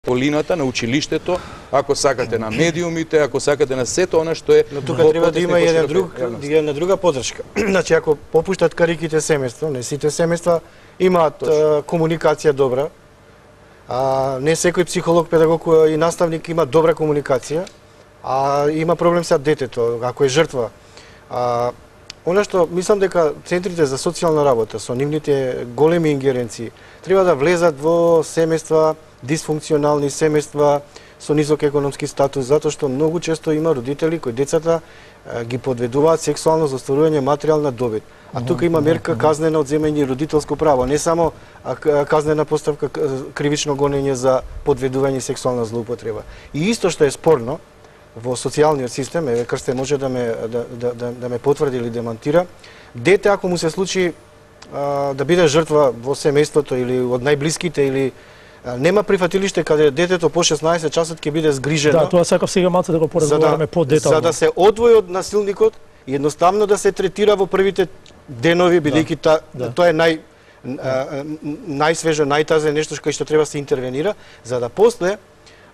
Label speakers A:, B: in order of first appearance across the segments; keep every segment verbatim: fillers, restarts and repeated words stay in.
A: околината, на училиштето, ако сакате на медиумите, ако сакате на сето она што е.
B: Но тука треба да има една друг, една друга поддршка. Значи ако попуштат кариките семејства, не сите семејства имаат а, комуникација добра. А, не секој психолог, педагог и наставник има добра комуникација, а има проблем со детето, ако е жртва. А, Она што мислам дека центрите за социјална работа со нивните големи ингеренции треба да влезат во семејства, дисфункционални семејства со низок економски статус, затоа што многу често има родители кои децата ги подведуваат сексуално за остварување материјална добит. А тука има мерка казнена одземање родителско право, не само казнена поставка кривично гонење за подведување сексуална злоупотреба. И исто што е спорно во социјалниот систем, еве Крсте може да ме да, да, да, да ме потврди или демонтира, дете ако му се случи а, да биде жртва во семејството или од најблиските или а, нема прифатилиште каде детето по шеснаесет часот ќе биде згрижено.
C: Да, тоа сакав сега малку да го поразговараме подетално.
B: За да се одвои од насилникот и едноставно да се третира во првите денови, бидејќи да, да. тоа е нај најсвежо, најтазе нешто кај што треба да се интервенира, за да после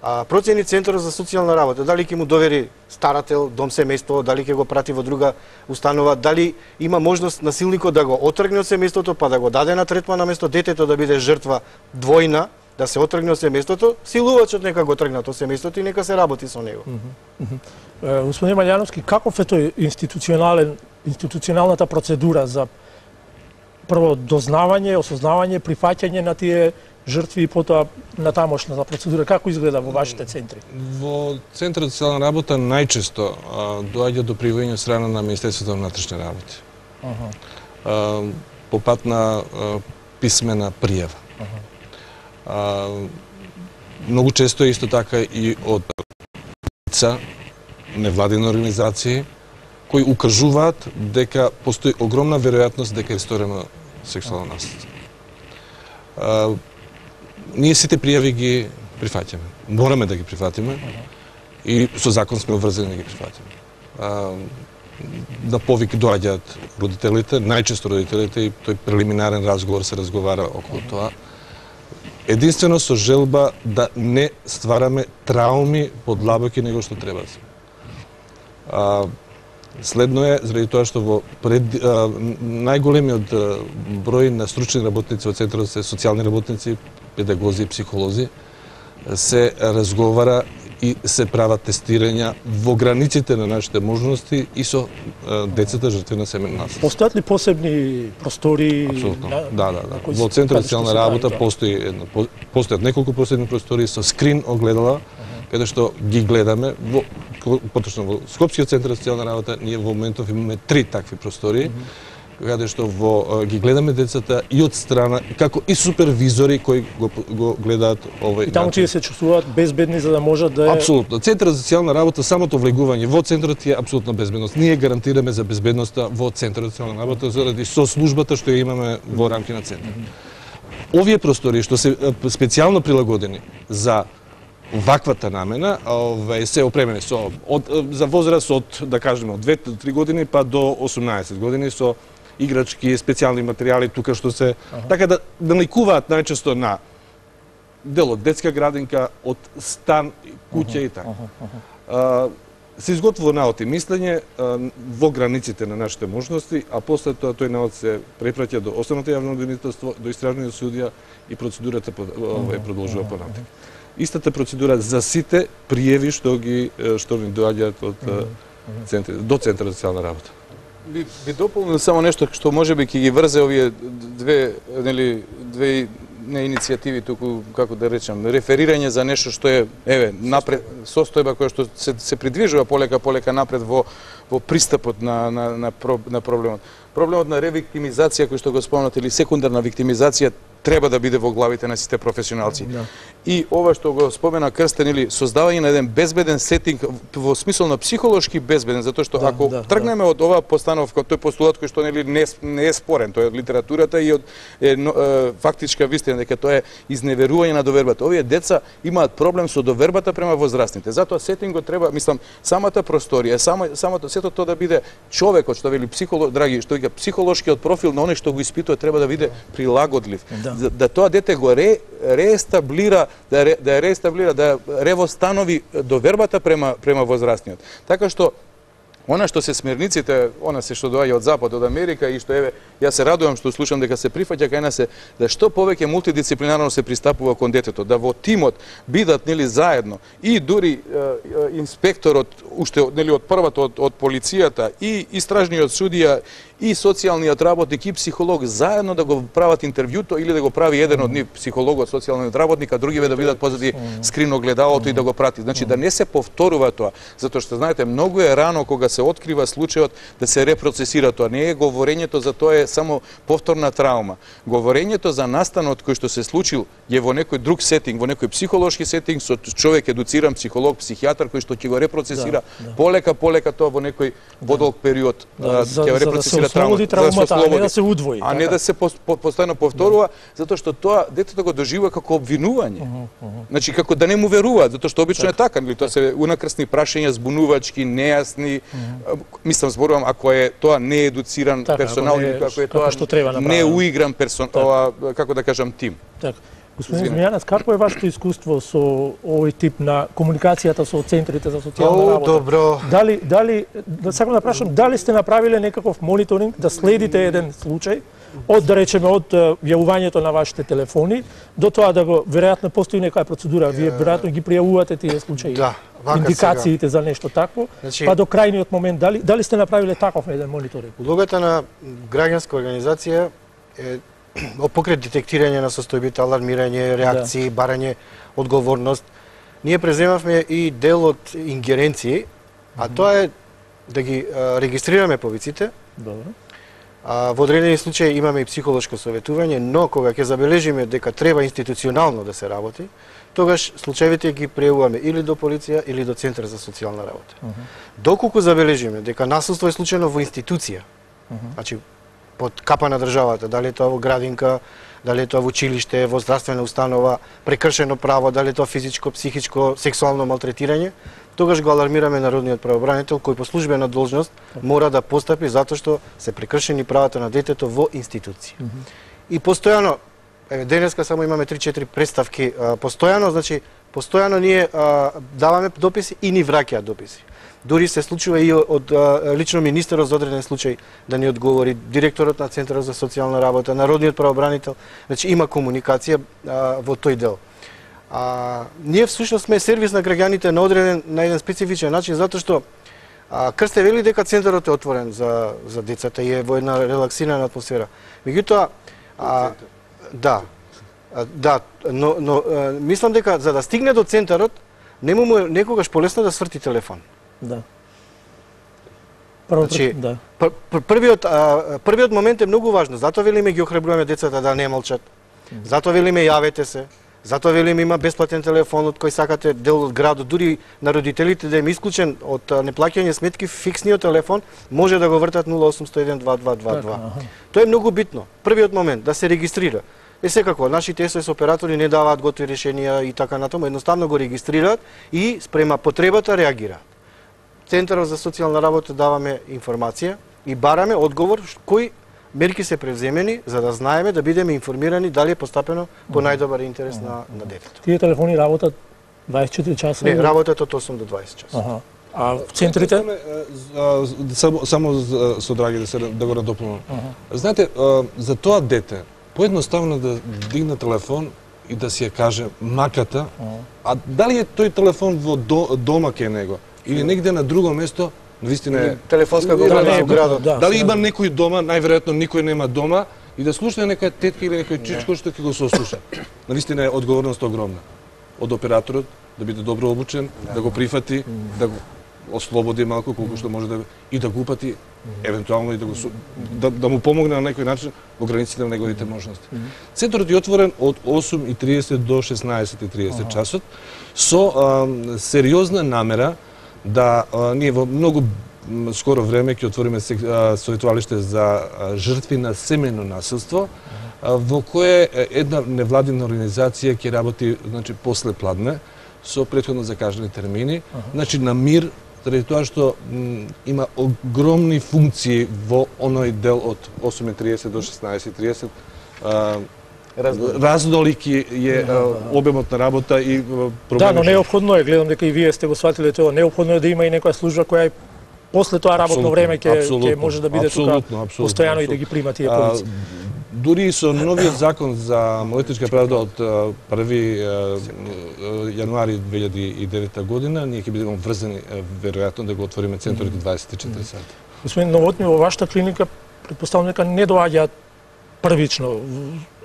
B: А, процени Центарот за социјална работа, дали ќе му довери старател, дом семејство, дали ќе го прати во друга установа, дали има можност насилникот да го отргне од семејството, па да го даде на третман наместо детето да биде жртва двојна, да се отргне од семејството, силувачот нека го тргнат од семејството и нека се работи со него.
C: Mm -hmm. Господин Маљановски, каков е тој институционален, институционалната процедура за прво дознавање, осознавање, прифаќање на тие жртви и потоа на тамошната процедура, како изгледа во вашите центри?
D: Во Центарот за социјална работа најчесто а, доаѓа до привојување страна на Министерството на внатрешни работи. Uh -huh. а, по пат на а, писмена пријава. Uh -huh. а, многу често исто така и од лица, невладини организации, кои укажуваат дека постои огромна веројатност дека е сторено сексуално насилство. Uh, Ние сите пријави ги прифаќаме. Мораме да ги прифатиме и со закон сме обврзани да ги прифатиме. А, на повик доаѓаат родителите, најчесто родителите, и тој прелиминарен разговор се разговара околу тоа. Единствено со желба да не ствараме трауми подлабоки него што треба. А, Следно е, заради тоа што во пред, а, најголемиот број на стручни работници во Центарот се социјални работници, педагози и психолози, се разговара и се прават тестирања во границите на нашите можности и со а, децата жртви на семејно насилство.
C: Постојат ли посебни простори?
D: Апсолутно. На... Да, да, да. Во Центарот за социјална работа постои едно, постојат неколку посебни простори со скрин огледала, каде што ги гледаме во поточно во Скопскиот центар за социјална работа. Ние во моментов имаме три такви простори, mm -hmm. каде што во ги гледаме децата и од страна како и супервизори кои го, го гледаат овој.
C: И таму тие се чувствуваат безбедни за да можат да е...
D: Апсолутно. Центарот за социјална работа, самото влегување во центарот е апсолутна безбедност. Ние гарантираме за безбедноста во Центарот за социјална работа заради со службата што ја имаме во рамки на центарот. Mm -hmm. Овие простори што се специјално прилагодени за ваквата намена, овај се опремени со од за возраст од, да кажеме, од две до три години па до осумнаесет години со играчки, специјални материјали тука што се ага. така да наликуваат најчесто на дел од детска градинка, од стан, куќа ага. и така. Ага. Се изготвува наод и мислење во границите на нашите можности, а после тоа тој наод се препраќа до основното јавно обвинителство, до истражниот судија и процедурата е продолжува понатаму. Истата процедура за сите пријави што ги што ни доаѓаат од центри до Центарот за социјална работа.
A: Би, би дополнил само нешто што можеби ќе ги врзе овие две, нели, две не иницијативи туку, како да речам, реферирање за нешто што е, еве, напред, состојба која што се, се придвижува полека полека напред во во пристапот на на на, на проблемот. Проблемот на ревиктимизација кој што го спомнате или секундарна виктимизација треба да биде во главите на сите професионалци. Да. И ова што го спомена Крстен, или создавање на еден безбеден сетинг во смисол на психолошки безбеден, затоа што да, ако да, тргнеме да. од оваа постановка, тој постулат кој што нели не, не е спорен, тоа е од литературата и од е, но, е, фактичка вистина дека тоа е изневерување на довербата. Овие деца имаат проблем со довербата према возрастните. Затоа сетингот треба, мислам, самата просторија, само самото сето тоа да биде човекот што вели психолог, драги, што вика психолошкиот профил на оној што го испитува треба да биде прилагодлив. Да, да тоа дете го ре, реестаблира да ре, да ја реестаблира, да ревостанови довербата према према возрастниот. Така што она што се смерниците, она се што доаѓа од Запад, од Америка и што еве, јас се радувам што слушам дека се прифаќа кај нас е да што повеќе мултидисциплинарно се пристапува кон детето, да во тимот бидат нели заедно и дури е, е, инспекторот уште нели од првата од, од полицијата и истражниот судија и социјалниот работник и психолог заедно да го прават интервјуто или да го прави еден од нив психологот, социјалниот работник, а другиве да бидат позади скриногледалото и да го прати. Значи да не се повторува тоа, затоа што знаете многу е рано кога се открива случајот да се репроцесира тоа. Не е говорењето за тоа е само повторна травма. Говорењето за настанот кој што се случил е во некој друг сетинг, во некој психолошки сетинг со човек едуциран психолог, психијатар кој што ќе го репроцесира
C: да, да.
A: полека полека тоа во некој подолг период
C: да,
A: ќе го репроцесира
C: травмата, травмата, а не да се удвои.
A: А не да се по, по, постојано повторува, затоа што тоа детето го доживува како обвинување. Uh -huh, uh -huh. Значи како да не му веруваат, затоа што обично так. е така, нели тоа се унакрсни прашања, збунувачки, нејасни. Uh -huh. Мислам зборувам ако е тоа неедуциран
C: така,
A: персонал или ако е тоа
C: што треба
A: неуигран персон, ова, како да кажам, тим.
C: Така. Господин Змејанец, какво е вашето искуство со овој тип на комуникацијата со центрите за социјална
B: О,
C: работа?
B: добро.
C: Дали, дали, да сакам да прашам, дали сте направиле некаков мониторинг, да следите еден случај, од, да речеме, од јавувањето на вашите телефони, до тоа да го, веројатно постои некоја процедура, вие веројатно ги пријавувате тие случаи,
B: да,
C: индикациите за нешто такво,
B: значи,
C: па до крајниот момент, дали, дали сте направиле таков еден мониторинг?
B: Улогата на граѓанска организација е покрај детектирање на состојбите, алармирање, реакции, да. барање одговорност, ние преземавме и дел од ингеренции, а тоа е да ги а, регистрираме повиците.
C: Добро.
B: А, во одредени случаи имаме и психолошко советување, но кога ќе забележиме дека треба институционално да се работи, тогаш случаевите ги пријавуваме или до полиција или до Центар за социјална работа. Uh -huh. Доколку забележиме дека насилство е случајно во институција, uh -huh. значи под капа на државата, дали е тоа во градинка, дали е тоа во училиште, во здравствена установа, прекршено право, дали е тоа физичко, психичко, сексуално малтретирање, тогаш го алармираме народниот правобранител кој по службена должност мора да постапи затоа што се прекршени правата на детето во институција. Mm -hmm. И постојано, еве денеска само имаме три-четири представки, а, постојано, значи постојано ние а, даваме дописи и ни враќаат дописи. Дури се случува и од а, лично министерот за одреден случај да ни одговори, директорот на Центарот за социјална работа, народниот правобранител, значи има комуникација а, во тој дел. А, ние всушност сме сервис на граѓаните на одреден на еден специфичен начин затоа што а, Крсте вели дека центарот е отворен за за децата и е во една релаксирана атмосфера. Меѓутоа а, да. А, да, но но а, мислам дека за да стигне до центарот нему му е некогаш полесно да сврти телефон.
C: Да. Прво,
B: значи,
C: да.
B: Пр, пр, првиот а, првиот момент е многу важно. Затоа велиме ги охрабруваме децата да не молчат. Затоа велиме јавете се. Затоа велиме има бесплатен телефон од кој сакате дел од градот, дури на родителите да им исклучен од неплаќање сметки, фиксниот телефон може да го вртат нула осум еден два два два два. Тоа е многу битно. Првиот момент да се регистрира. Е секако, нашите ес о ес оператори не даваат готови решенија и така натаму, едноставно го регистрираат и спрема потребата реагираат. Центарот за социјална работа даваме информација и бараме одговор кои мерки се превземени за да знаеме да бидеме информирани дали е постапено по најдобар интерес mm -hmm. на на детето.
C: Тие телефони работат дваесет и четири часа?
B: Не, работат од осум до дваесет часа.
C: Аха. А в центрите?
D: Само, само со драги да се да го надополнам. Знаете, за тоа дете поедноставно да дигне телефон и да си ја каже маката, а дали е тој телефон во до, дома кај него или негде на друго место, навистина е
B: телефонска говора во градот.
C: Да,
D: дали има некој дома, најверојатно никој нема дома и да слуша некоја тетка или некој чичко што ќе го сослуша. Навистина е одговорност огромна од операторот да биде добро обучен, да, да го прифати, да го ослободи малку колку што може да и да го упати, евентуално и да го да, да му помогне на некој начин во границите на неговите можности. Центарот е отворен од осум и триесет до шеснаесет и триесет часот со а, сериозна намера да а, ние во многу скоро време ќе отвориме советувалиште за а, жртви на семејно насилство, а, во кое една невладина организација ќе работи, значи после пладне со претходно закажани термини, uh -huh. значи на мир, заради тоа што м, има огромни функции во оној дел од осум и триесет до шеснаесет и триесет, а, разнолики е обемот на работа и проблеми.
C: Да, но неопходно е, гледам дека и вие сте го сватиле тоа, неопходно е да има и некоја служба која после тоа работно време ќе ќе може да биде тука постојано и да ги прима тие полици.
D: Дури со новиот закон за малолетничка правда од први јануари две илјади и девета година, ние ќе бидеме врзани веројатно да го отвориме центарот дваесет и четири сати.
C: Господин Новотни, во вашата клиника претпоставувам дека не доаѓаат првично,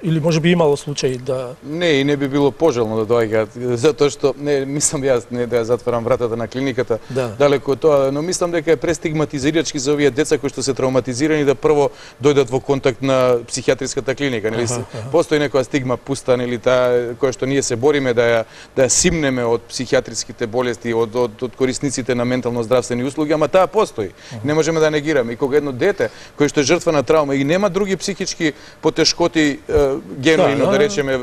C: или може би имало случаи да...
A: Не, и не би било пожелно да доаѓаат, затоа што, не, мислам јас не да ја затварам вратата на клиниката, да. Далеко од тоа, но мислам дека е престигматизирачки за овие деца кои што се травматизирани да прво дојдат во контакт на психијатриската клиника, нели? Ага, ага. Постои некоја стигма пуста, нели, таа која што ние се бориме да ја да ја симнеме од психијатриските болести, од од, од корисниците на ментално здравствени услуги, ама таа постои. Ага. Не можеме да негираме. И кога едно дете кој што е жртва на травма и нема други психички потешкоти генуино, да, да речеме,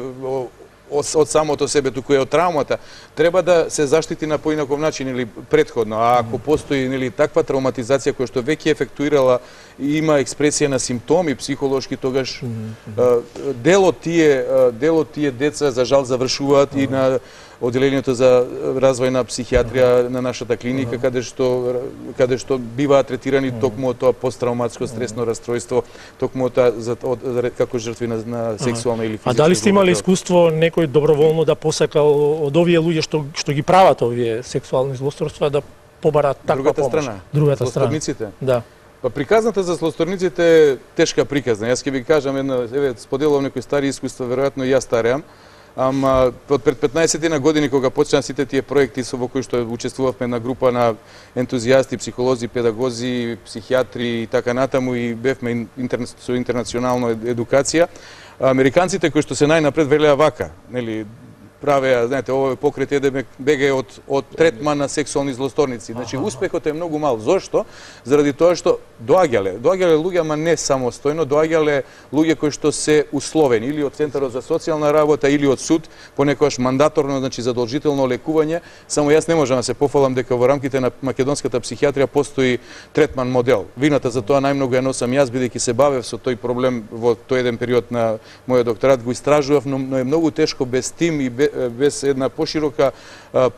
A: од, од самото себе, туку е од травмата, треба да се заштити на поинаков начин или претходно. А ако постои нели таква травматизација која што веќе ефектуирала и има експресија на симптоми психолошки, тогаш дел од тие дел од тие деца за жал завршуваат и на одделението за развој на психијатрија на нашата клиника, каде што каде што биваат третирани токму од тоа посттравматско стресно расстройство, токму од тоа за, од, како жртви на, на сексуална или физичка.
C: А дали сте имали искуство некој доброволно да посакал од овие луѓе што што ги прават овие сексуални злосторства да побарат таква
A: Другата
C: помош?
A: Страна.
C: Другата страна.
A: Злосторниците?
C: Да.
A: Па приказната за злосторниците е тешка приказна. Јас ќе ви кажам една, еве, споделувам некои стари искуства, веројатно и јас стареам. Ама од пред петнаесет на години кога почнаа сите тие проекти со во кои што учествувавме на група на ентузијасти, психолози, педагози, психијатри и така натаму и бевме интер... со интернационална едукација, американците кои што се најнапред велеа вака, нели, правеа, знаете, овој покрет еде беге од од третман на сексуални злосторници. Значи успехот е многу мал. Зошто? Заради тоа што доаѓале, доаѓале луѓе, ама не самостојно, доаѓале луѓе кои што се условени или од Центарот за социјална работа или од суд, понекогаш мандаторно, значи задолжително лекување. Само јас не можам да се пофалам дека во рамките на македонската психијатрија постои третман модел. Вината за тоа најмногу ја носам јас, бидејќи се бавев со тој проблем во тој еден период на мојот докторат, го истражував, но, но е многу тешко без тим и без без една поширока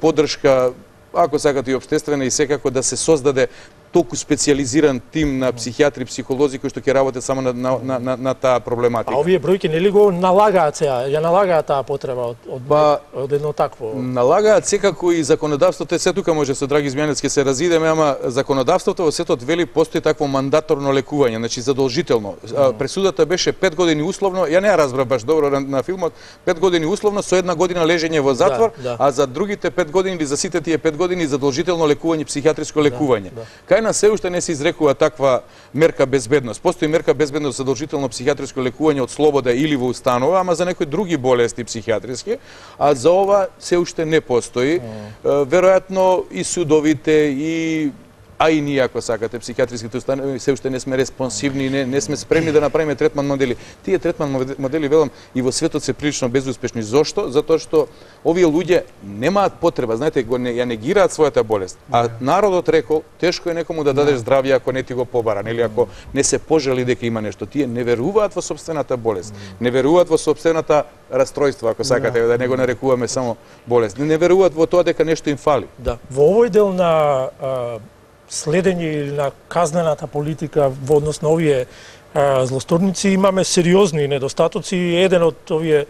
A: поддршка, ако сакате и општествена, и секако да се создаде толку специјализиран тим на психијатри, психолози кои што ќе работат само на, на, на, на, на таа проблематика.
C: А овие бројки нели го налагаат сега, ја налагаат таа потреба од, од,
A: ба,
C: од едно такво?
A: Налагаат секако и законодавството, се тука може со Драги Змјанец ќе се разидеме, ама законодавството во светот вели постои такво мандаторно лекување, значи задолжително. Mm. Пресудата беше пет години условно, ја не ја разбрав баш добро на, на филмот, пет години условно со една година лежење во затвор, да, да. А за другите пет години или за сите тие пет години задолжително лекување, психијатриско лекување. Да, да. На се уште не се изрекува таква мерка безбедност. Постои мерка безбедност задолжително психијатриско лекување од слобода или во установа, ама за некои други болести психијатриски, а за ова се уште не постои. Mm. Веројатно и судовите и а и ние, ако сакате, психијатриските установи се уште не сме респонсивни, не, не сме спремни да направиме третман модели. Тие третман модели, велам, и во светот се прилично безуспешни. Зошто? Затоа што овие луѓе немаат потреба, знаете, го не, ја негираат својата болест. А народот рекол, тешко е некому да дадеш здравје ако не ти го побара, нели, ако не се пожели дека има нешто. Тие не веруваат во сопствената болест, не веруваат во сопствената расстройство, ако сакате, да не го нарекуваме само болест. Не веруваат во тоа дека нешто им фали.
C: Да. Во овој дел на а... следење или на казнената политика во однос на овие а, злосторници имаме сериозни недостатоци. Еден од овие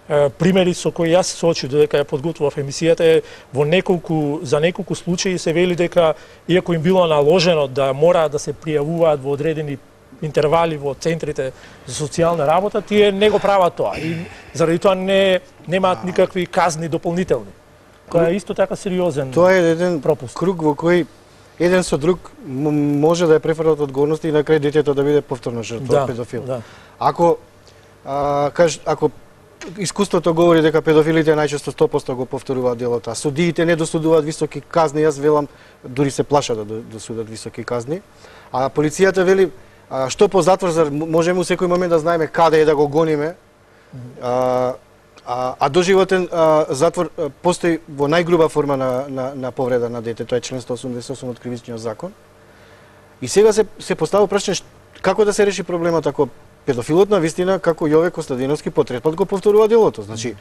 C: а, примери со кои јас се соочив додека ја подготвував емисијата е во неколку за неколку случаи се вели дека иако им било наложено да мора да се пријавуваат во одредени интервали во центрите за социјална работа, тие не го прават тоа и заради тоа не немаат никакви казни дополнителни. Тоа е исто така сериозен пропуст.
B: Тоа е еден пропуст. Круг во кој еден со друг може да ја префрлат одговорност и на крај детето да биде повторно жртва
C: да,
B: педофил.
C: Да.
B: Ако а, каж, ако искуството говори дека педофилите најчесто сто проценти го повторуваат делото, а судиите не досудуваат високи казни, јас велам дури се плашат да досудат високи казни, а полицијата вели а, што по затвор можеме у секој момент да знаеме каде е да го гониме. А, А, а доживотен а, затвор а, постои во најгруба форма на, на, на повреда на дете, тоа е член сто осумдесет и осум од Кривичниот закон. И сега се, се поставува прашање како да се реши проблемот ако педофилот на вистина како Јове Костадиновски по трет пат го повторува делото. Значи,